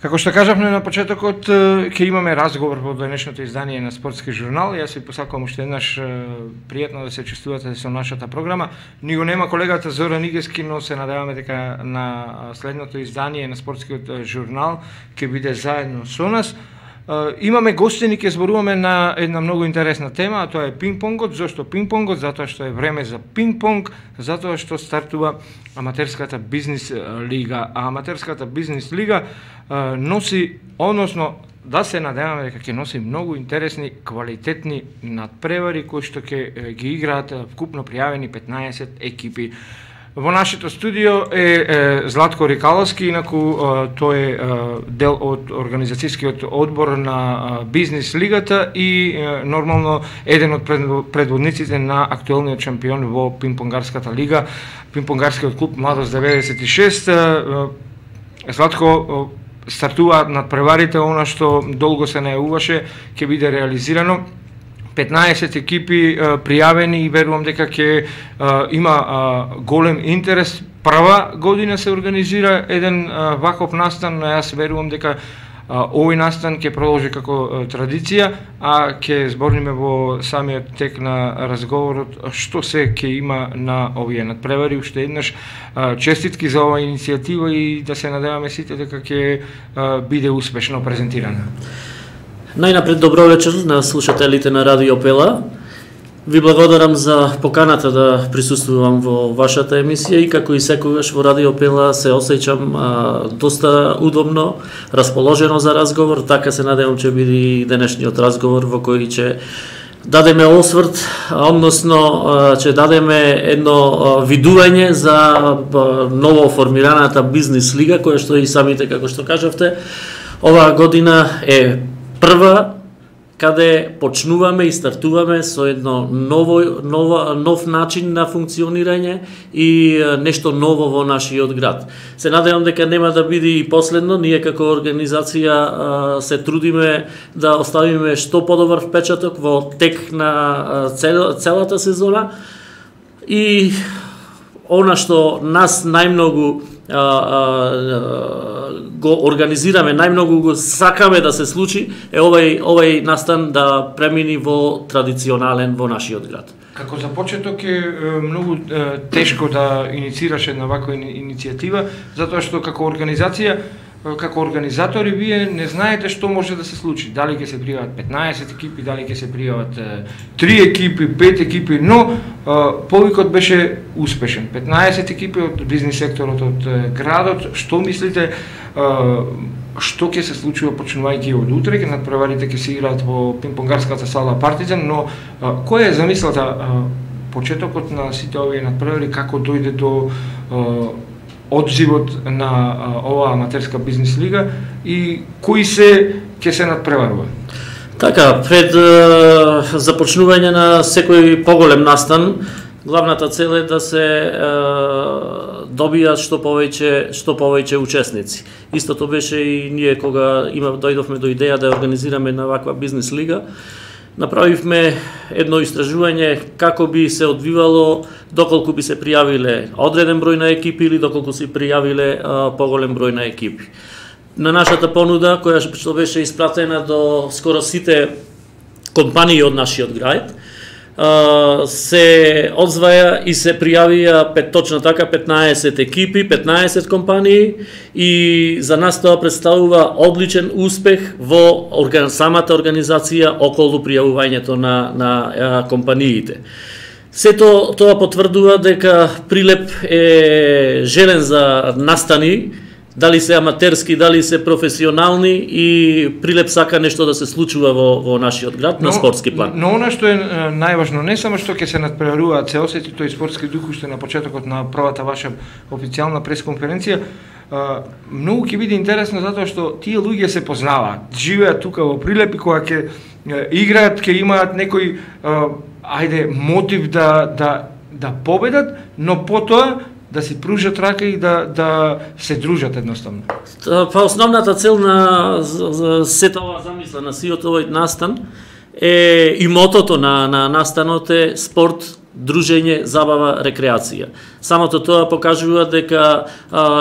Како што кажавме на почетокот, ќе имаме разговор во денешното издание на Спортски журнал. Јас ви посакувам уште еднаш пријатно да се чувствувате со нашата програма. Ни го нема колегата Зоран Игески, но се надеваме дека на следното издание на Спортскиот журнал ќе биде заедно со нас. Имаме гостини, ќе зборуваме на една многу интересна тема, а тоа е пинг-понгот. Зошто пинг-понгот? Затоа што е време за пинг-понг, затоа што стартува аматерската бизнис лига. А аматерската бизнис лига носи, односно да се надеваме дека ќе носи многу интересни, квалитетни надпревари кои што ќе ги играат вкупно пријавени 15 екипи. Во нашето студио е Златко Рикаловски, инаку тој е дел од организацијскиот одбор на бизнис лигата и нормално еден од предводниците на актуелниот шампион во пинг-понгарската лига, пинг-понгарскиот клуб Младост 96. Златко, стартува надпреварите, она што долго се најавуваше ќе биде реализирано. 15 екипи пријавени и верувам дека ќе има голем интерес. Прва година се организира еден ваков настан, но јас верувам дека овој настан ќе продолжи како традиција, а ќе збориме во самиот тек на разговорот што се ќе има на овие надпревари. Уште еднаш честитки за оваа иницијатива и да се надеваме сите дека ќе биде успешно презентирана. Најнапред добро вечер на слушателите на Радио Пела. Ви благодарам за поканата да присуствувам во вашата емисија и како и секогаш во Радио Пела се осеќам доста удобно, расположено за разговор, така се надевам ќе биде и денешниот разговор во кој ќе дадеме осврт, односно ќе дадеме едно видување за ново формираната бизнис лига, која што и самите, како што кажавте, оваа година е прва каде почнуваме и стартуваме со едно нов начин на функционирање и нешто ново во нашиот град. Се надевам дека нема да биде и последно. Ние како организација се трудиме да оставиме што подобар впечаток во тек на целата сезона и она што нас најмногу го организираме, најмногу го сакаме да се случи, е овај настан да премини во традиционален во нашиот град. Како за почеток е многу тешко да инициираш една ваква иницијатива, затоа што како организација, како организатори вие не знаете што може да се случи. Дали ќе се пријават 15 екипи, дали ќе се пријават 3 екипи, 5 екипи, но повикот беше успешен. 15 екипи од бизнис секторот од градот. Што мислите што ќе се случува почнувајќи од утре? Ќе надпреварите ќе се играат во пинг-понгарската сала Партизан, но која е замислата почетокот на сите овие надпревари, како дојде до одзивот на оваа аматерска бизнис лига и кои се ќе се надпреварува? Така, пред започнување на секој поголем настан, главната цел е да се добијат што повеќе учесници. Истото беше и ние кога дојдовме до идеја да организираме една ваква бизнис лига. Направивме едно истражување како би се одвивало доколку би се пријавиле одреден број на екипи или доколку се пријавиле поголем број на екипи. На нашата понуда, која што беше испратена до скоро сите компании од нашиот град, се одзваја и се пријавија точно така 15 екипи, 15 компании и за нас тоа представува одличен успех во самата организација околу пријавувањето на компаниите. Сето тоа потврдува дека Прилеп е желен за настани, дали се аматерски, дали се професионални, и Прилеп сака нешто да се случува во нашиот град на спортски план. Но она што е најважно, не само што ќе се надпреваруваат, се осети тој спортски дух уште на почетокот на првата ваша официјална пресконференција, многу ќе биде интересно затоа што тие луѓе се познаваат, живеат тука во Прилеп и кога ќе играат, ќе имаат некој мотив да победат, но потоа да си пружат рака и да се дружат едноставно. Па основната цел на сета ова замисла на сиот овој настан е и мотото на настанот е спорт дружење, забава, рекреација. Самото тоа покажува дека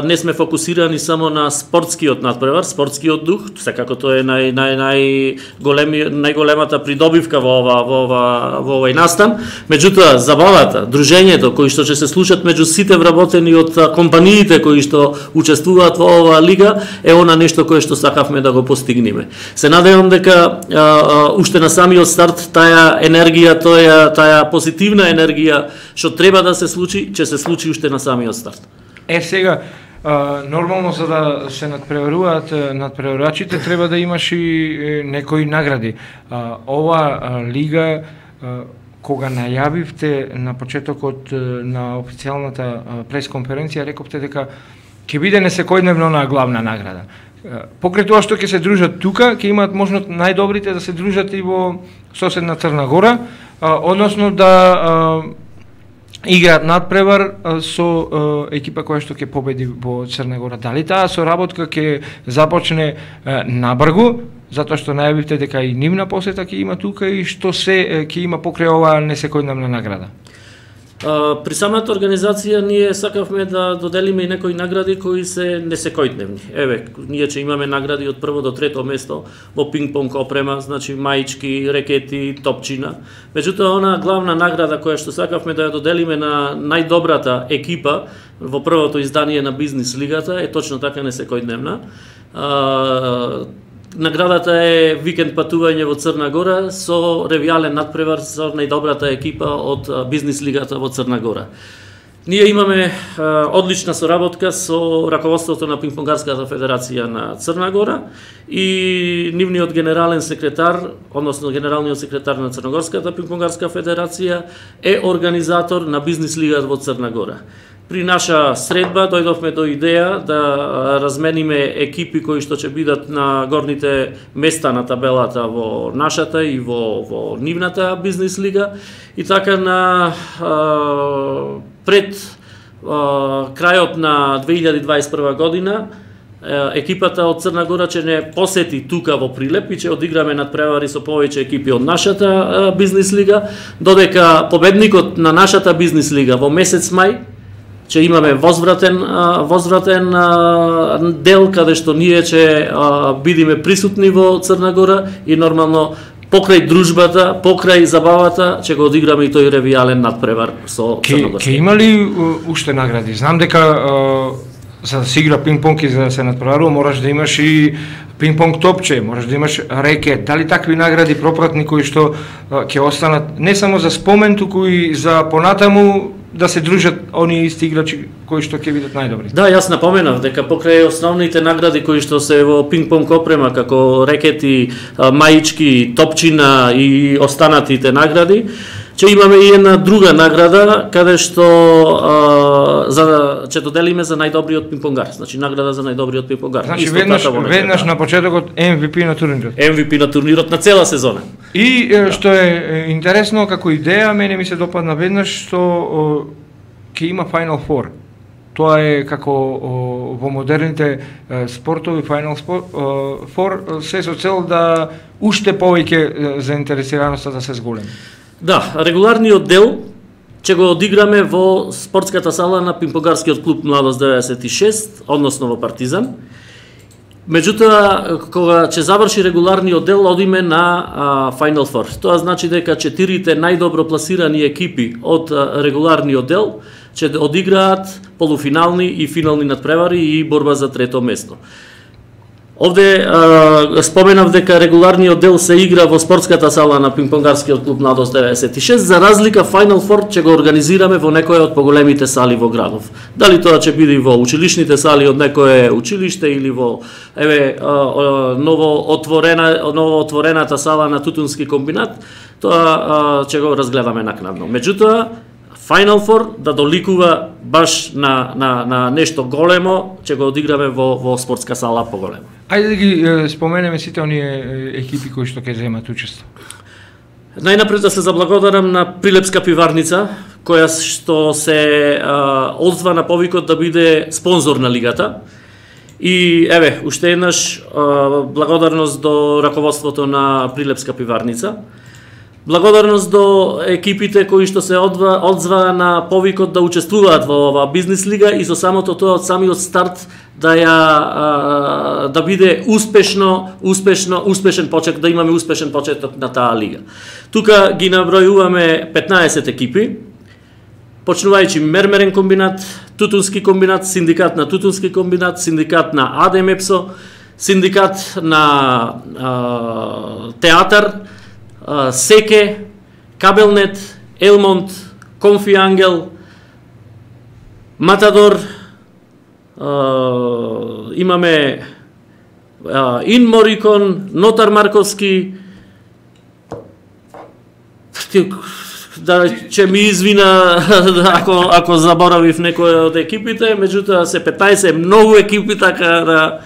не сме фокусирани само на спортскиот надпревар, спортскиот дух, секако тоа е најголемата придобивка во овој настан. Меѓутоа, забавата, дружењето кои што ќе се случат меѓу сите вработени од компаниите кои што учествуваат во оваа лига е она нешто кое што сакавме да го постигнеме. Се надевам дека уште на самиот старт таа енергија, таа позитивна енергија што треба да се случи, ќе се случи уште на самиот старт. Сега нормално за да се надпреваруваат надпреварачите треба да имаш и некои награди. Ова лига кога најавивте на почетокот на официјалната пресконференција рековте дека ќе биде несекојдневно на главна награда. Покрај тоа што ќе се дружат тука, ќе имаат можност најдобрите да се дружат и во соседна Црна Гора, односно да играат надпревар со екипа која што ќе победи во Црна Гора. Дали таа соработка ќе започне набрзо, затоа што најавивте дека и нивна посета ќе има тука и што се ќе има покрај оваа несекојдневна награда? При самата организација ние сакавме да доделиме и некои награди кои се несекојдневни. Еве, ние ќе имаме награди од прво до трето место во пинг-понг опрема, значи маички, рекети, топчина. Меѓутоа, она главна награда која што сакавме да ја доделиме на најдобрата екипа во првото издание на Бизнис лигата е точно така несекојдневна. Наградата е викенд патување во Црна Гора со ревијален надпревар со најдобрата екипа од Бизнис лигата во Црна Гора. Ние имаме одлична соработка со раководството на Пинг-понгарската федерација на Црна Гора и нивниот генерален секретар, односно генералниот секретар на Црногорската Пинг-понгарска федерација е организатор на Бизнис лигата во Црна Гора. При наша средба дојдовме до идеја да размениме екипи кои што ќе бидат на горните места на табелата во нашата и во нивната Бизнис лига и така на пред крајот на 2021 година екипата од Црна Гора ќе не посети тука во Прилеп и ќе одиграме надпревари со повеќе екипи од нашата Бизнис лига, додека победникот на нашата Бизнис лига во месец мај ќе имаме возвратен дел каде што ние ќе бидеме присутни во Црна Гора и нормално покрај дружбата, покрај забавата ќе го одиграме и тој ревијален надпревар со Црногорска. Ке има ли уште награди? Знам дека за да се игра пинг-понг и за да се надпреварува мораш да имаш и пинг-понг топче, можеш да имаш рекет. Дали такви награди пропратни кои што ќе останат не само за спомен, туку и за понатаму да се дружат оние исти играчи кои што ќе бидат најдобри? Да, јас напоменав дека покрај основните награди кои што се во пинг-понг опрема како рекети, маички, топчина и останатите награди, ќе имаме и една друга награда каде што ќе доделиме за најдобриот пинг-понгар, значи награда за најдобриот пинг-понгар. Значи веднаш на почетокот MVP на турнирот. MVP на турнирот на цела сезона. И што е интересно како идеја, мене ми се допадна веднаш што ќе има Final Four. Тоа е како во модерните спортови Final Four се со цел да уште повеќе заинтересираноста да се зголеми. Да, регуларниот дел ќе го одиграме во спортската сала на Пинг-понгарскиот клуб Младост 96, односно во Партизан. Меѓутоа, кога ќе заврши регуларниот дел, одиме на Final Four. Тоа значи дека 4 најдобро пласирани екипи од регуларниот дел ќе одиграат полуфинални и финални надпревари и борба за трето место. Овде споменав дека регуларниот дел се игра во спортската сала на Пинг-понгарскиот клуб Младост 96, за разлика Final Four ќе го организираме во некоја од поголемите сали во градов. Дали тоа ќе биде во училишните сали од некое училиште или во ново отворената сала на Тутунски комбинат, тоа ќе го разгледаме накнадно. Меѓутоа, Final Four да доликува баш на нешто големо, ќе го одиграме во спортска сала поголемо. Ајде да ги споменеме сите оние екипи кои што ќе земат учество. Најнапред да се заблагодарам на Прилепска пиварница, која што се одзва на повикот да биде спонзор на лигата. И еве, уште еднаш благодарност до раководството на Прилепска пиварница. Благодарност до екипите кои што се одзваа на повикот да учествуваат во оваа бизнис лига и со самото тоа од самиот старт да биде успешен почеток, да имаме успешен почеток на таа лига. Тука ги набројуваме 15 екипи, почнувајќи мермерен комбинат, тутунски комбинат, синдикат на тутунски комбинат, синдикат на АДМЕПСО, синдикат на театар, Секе, Кабелнет, Елмонт, Конфи Ангел, Матадор, имаме Инморикон, Нотар Марковски, да че ми извина ако заборавив некој од екипите, меѓутоа се 15 многу екипи, така да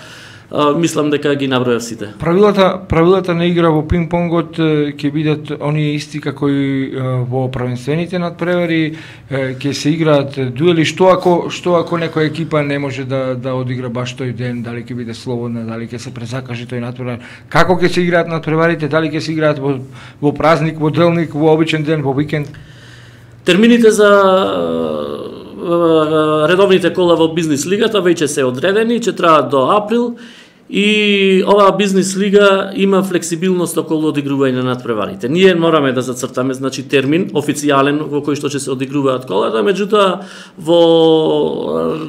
мислам дека ги набројав сите. Правилата на игра во пинг-понгот ќе бидат оние исти како и во првенствените надпревари, ќе се играат дуели, што ако некоја екипа не може да одигра баш тој ден, дали ќе биде слободна, дали ќе се презакаже тој надпревар, како ќе се играат надпреварите, дали ќе се играат во празник, во делник, во обичен ден, во викенд? Термините за редовните кола во бизнис лигата веќе се одредени, ќе траат до април. И оваа бизнис лига има флексибилност околу одигрување на надпреварите. Ние мораме да зацртаме, значи, термин официјален во кој што ќе се одигруваат колата, меѓутоа во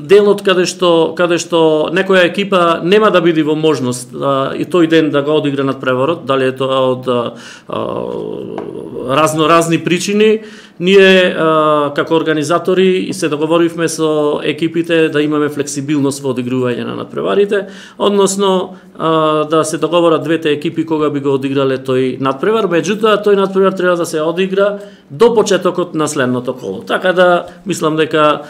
делот каде што некоја екипа нема да биде во можност и тој ден да го одигра надпреварот, дали е тоа од разни причини, ние како организатори се договоривме со екипите да имаме флексибилност во одигрување на надпреварите, односно да се договорат двете екипи кога би го одиграле тој надпревар, меѓутоа тој надпревар треба да се одигра до почетокот на следното коло. Така да мислам дека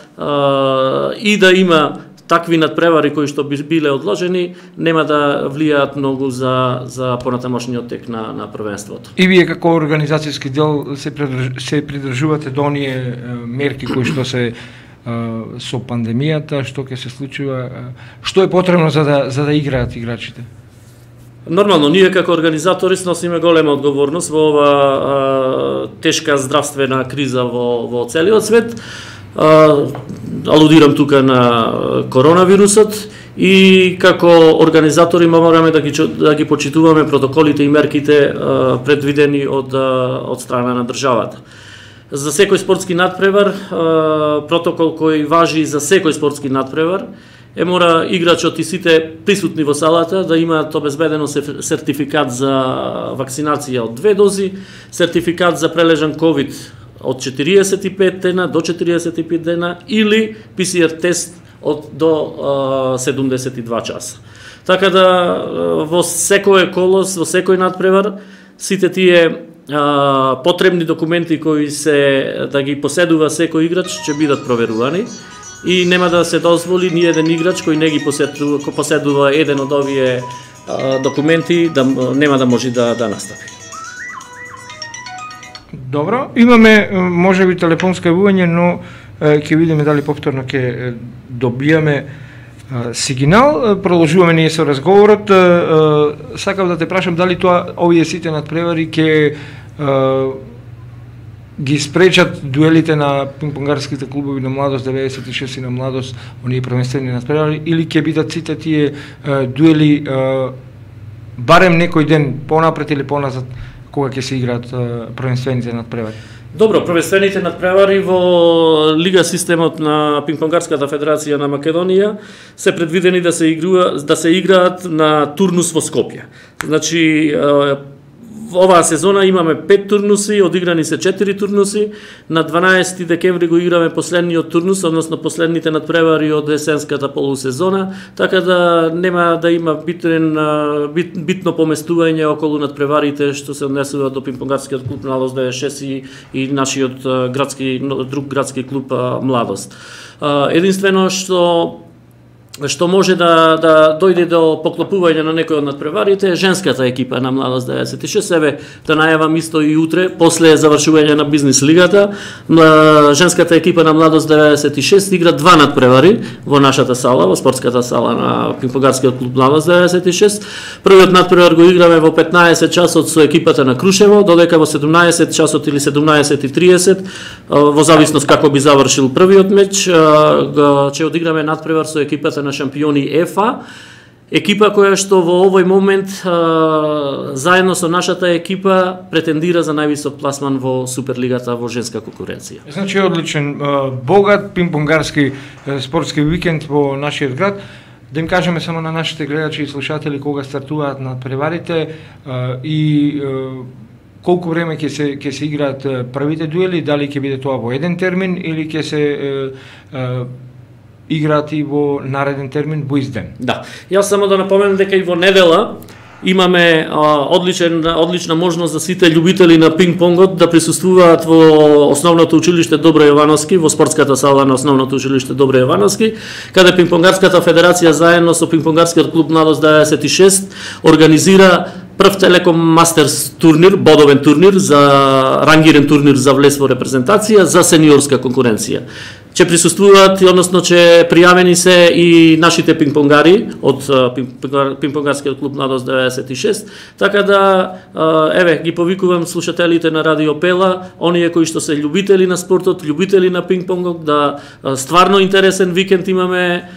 и да има такви надпревари кои што би биле одложени, нема да влијаат многу за понатамошниот тек на првенството. И вие како организацијски дел се придржувате до оние мерки кои што се со пандемијата, што ќе се случува, што е потребно за да играат играчите? Нормално, ние како организатори сносиме голема одговорност во ова тешка здравствена криза во целиот свет. Алудирам тука на коронавирусот и како организатори мораме да ги почитуваме протоколите и мерките предвидени од страна на државата. За секој спортски надпревар, протокол кој важи за секој спортски надпревар, мора играчот и сите присутни во салата да имаат обезбедено сертификат за вакцинација од 2 дози, сертификат за прележан ковид од 45 дена до 45 дена или ПСР тест до 72 часа. Така да во секој колос, во секој надпревар, сите тие потребни документи кои се да ги поседува секој играч ќе бидат проверувани и нема да се дозволи ни еден играч кој не ги поседува еден од овие документи нема да може да настапи. Добро, имаме можеби телефонско јавување, но ќе видиме дали повторно ќе добијаме сигнал. Продолжуваме ние со разговорот. Сакав да те прашам дали овие сите надпревари ќе ги спречат дуелите на пинг-понгарските клубови на младост 96 и на младост, оние првенствени надпревари, или ќе бидат сите тие дуели барем некој ден понапред или поназад кога ќе се играат првенствените надпревари? Добро, првенствените надпревари во лига системот на Пинг-понгарската федерација на Македонија се предвидени да се играат на турнус во Скопје. Значи оваа сезона имаме 5 турнуси, одиграни се 4 турнуси. На 12 декември го играме последниот турнус, односно последните надпревари од есенската полусезона, така да нема да има битно поместување околу надпреварите што се однесува до Пинг-понгарскиот клуб Младост 96 и нашиот друг градски клуб Младост. Единствено што што може да дојде до поклопување на некој од надпреварите е женската екипа на Младост 96. Себе да најавам исто и утре, после завршување на бизнис лигата, женската екипа на Младост 96 игра 2 надпревари во нашата сала, во спортската сала на Пинг-понгарскиот клуб Младост 96. Првиот надпревар го играме во 15 часот со екипата на Крушево, додека во 17 часот или 17:30, во зависност како би завршил првиот меч, ќе одиграме надпревар со екипата на шампиони ЕФА, екипа која што во овој момент заедно со нашата екипа претендира за највисок пласман во Суперлигата во женска конкуренција. Значи одличен, богат пинг-понгарски спортски викенд во нашиот град. Да им кажеме само на нашите гледачи и слушатели кога стартуваат надпреварите и колку време ќе се играат првите дуели, дали ќе биде тоа во еден термин или ќе се играат и во нареден термин во изден. Да. Јас само да напоменам дека и во недела имаме одлична можност за сите љубители на пинг-понгот да присуствуваат во Основното училиште Добро Јовановски, во спортската сала на Основното училиште Добро Јовановски, каде Пинг-понгарската федерација заедно со Пинг-понгарскиот клуб Младост 96 организира прв Телеком Мастерс турнир, бодовен турнир за рангирен турнир за влез во репрезентација за сениорска конкуренција. Ќе присуствуваат, односно ќе пријавени се и нашите пинг-понгари од Пинг-понгарскиот клуб Младост 96, така да еве ги повикувам слушателите на Радио Пела, оние кои што се љубители на спортот, љубители на пинг-понгот, да стварно интересен викенд имаме,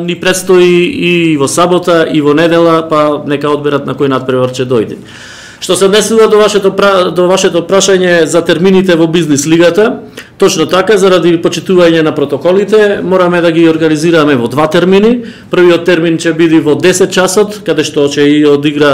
ни предстои и во сабота и во недела, па нека одберат на кој надпревар ќе дојде. Што се однесува до вашето прашање за термините во бизнис лигата, точно така, заради почитување на протоколите, мораме да ги организираме во 2 термини. Првиот термин ќе биде во 10 часот, каде што ќе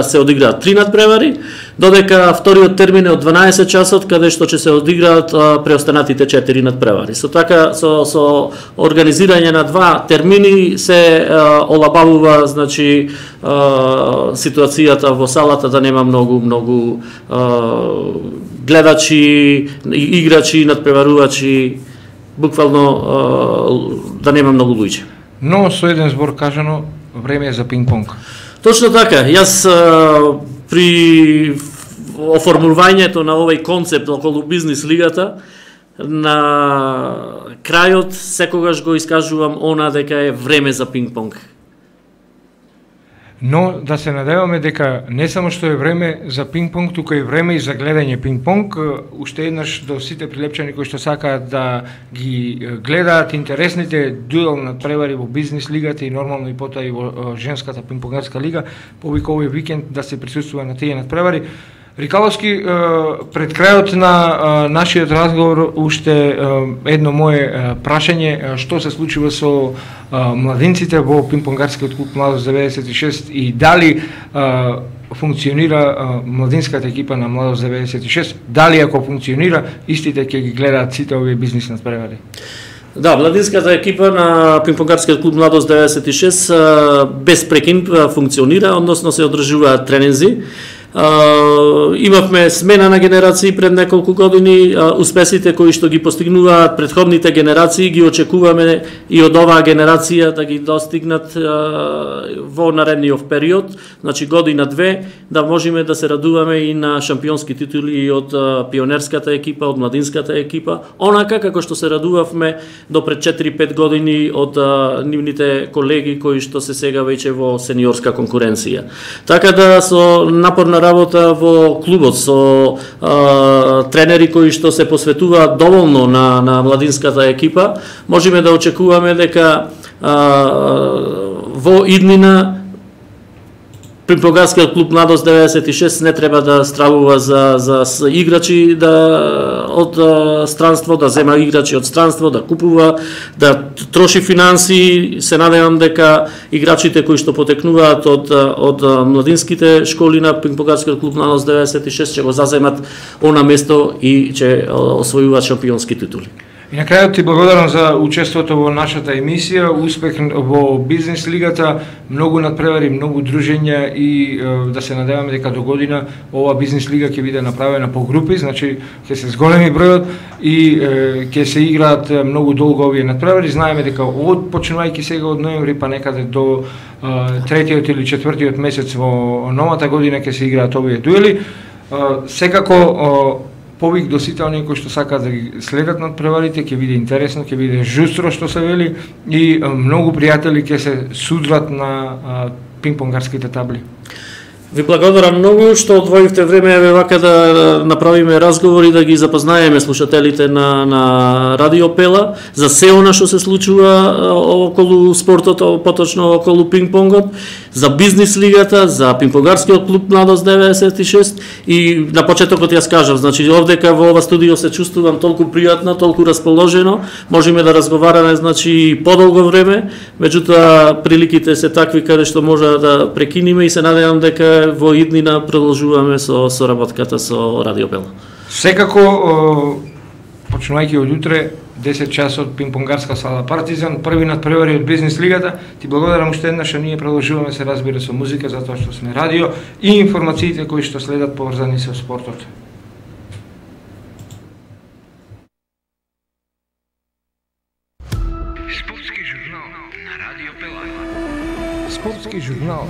се одиграат 3 надпревари, додека вториот термин е од 12 часот, каде што ќе се одиграат преостанатите 4 надпревари. Со организирање на 2 термини се олабавува, значи, ситуацијата во салата да нема многу гледачи, играчи, надпреварувачи, буквално да нема многу луѓе. Но со еден збор кажано, време е за пинг-понг. Точно така. Јас при оформувањето на овој концепт околу бизнис лигата, на крајот секогаш го искажувам она дека е време за пинг-понг. Но да се надеваме дека не само што е време за пинг-понг, туку е време и за гледање пинг-понг. Уште еднаш до сите прилепчани кои што сакаат да ги гледаат интересните дуел надпревари во бизнис лигата и нормално и потоа и во женската пинг-понгарска лига, повика овој викенд да се присуствува на тие надпревари. Рикаловски, пред крајот на нашиот разговор уште едно мое прашање, што се случува со младинците во пинг-понгарскиот клуб Младост 96 и дали функционира младинската екипа на Младост 96, дали ако функционира, истите ќе ги гледаат сите овие бизнис надпревари? Да, младинската екипа на Пинг-понгарскиот клуб Младост 96 без прекин функционира, односно се одржуваат тренинзи. Имавме смена на генерации пред неколку години, успесите кои што ги постигнуваат претходните генерации ги очекуваме и од оваа генерација да ги достигнат во наредниот период, значи година-две, да можеме да се радуваме и на шампионски титули од пионерската екипа, од младинската екипа, онака како што се радувавме до пред 4-5 години од нивните колеги кои што се сега веќе во сениорска конкуренција. Така да со напорна работа во клубот со тренери кои што се посветуваат доволно на младинската екипа, можеме да очекуваме дека во иднина Пинг-понгарскиот клуб Младост 96 не треба да стравува за играчи од странство, да зема играчи од странство, да купува, да троши финанси. Се надевам дека играчите кои што потекнуваат од младинските школи на Пинг-понгарскиот клуб Младост 96 ќе го заземат она место и ќе освојуваат шампионски титули. И на крајот ти благодарам за учеството во нашата емисија, успех во бизнес лигата, многу надпревари, многу дружења и да се надеваме дека до година ова бизнес лига ќе биде направена по групи, значи ќе се зголеми бројот и ќе се играат многу долго овие надпревари. Знаеме дека почнувајќи сега од ноември па некаде до третиот или четвртиот месец во новата година ќе се играат овие дуели. Секако повик до сите оние кои што сакаат да ги следат надпреварите, ќе биде интересно, ќе биде жустро што се вели и многу пријатели ќе се судрат на пинг-понгарските табли. Ви благодарам многу што одвоивте време вака да направиме разговори, да ги запознаеме слушателите на Радио Пела за се она што се случува околу спортот, поточно околу пинг-понгот, за бизнес лигата, за пинг-понгарскиот клуб Младост 96 и на почетокот јас кажав, значи овдека во ова студио се чувствувам толку пријатно, толку расположено, можеме да разговараме значи подолго време, меѓутоа приликите се такви каде што може да прекиниме и се надевам дека во иднина продолжуваме со работката со Радио Пела. Секако, почнувајќи од утре, 10 часот пинг-понгарска сала Партизан, први надпревари од бизнес лигата. Ти благодарам уште еднаш, ние продолжуваме се разбира со музика затоа што сме радио и информациите кои што следат поврзани со спортот. Спортски журнал на Радио Пела. Спортски журнал